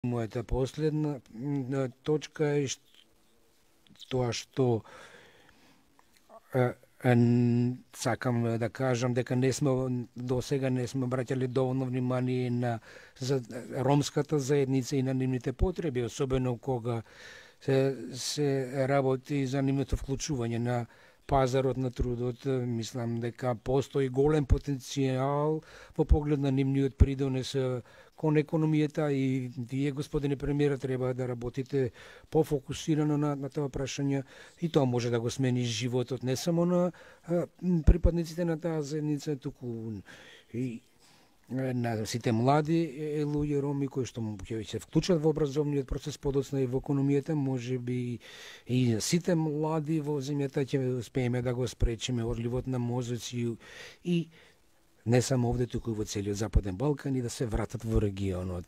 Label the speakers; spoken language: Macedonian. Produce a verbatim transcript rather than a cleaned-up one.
Speaker 1: Мојата последна точка е тоа што сакам да кажам дека не сме до сега не сме обраќале доволно внимание на за ромската заедница и на нивните потреби, особено кога се, се работи за нивното вклучување на пазарот на трудот. Мислам дека постои голем потенцијал во поглед на нивниот придонес кон економијата и вие, господине премиер, треба да работите пофокусирано на, на тоа прашање и тоа може да го смени животот не само на а, припадниците на таа заедница, туку и на сите млади луѓе роми кои што ќе се вклучат во образовниот процес подоцна и во економијата, можеби и сите млади во земјата ќе успееме да го спречиме одливот на мозоци и не само овде, туку и во целиот Западен Балкан и да се вратат во регионот.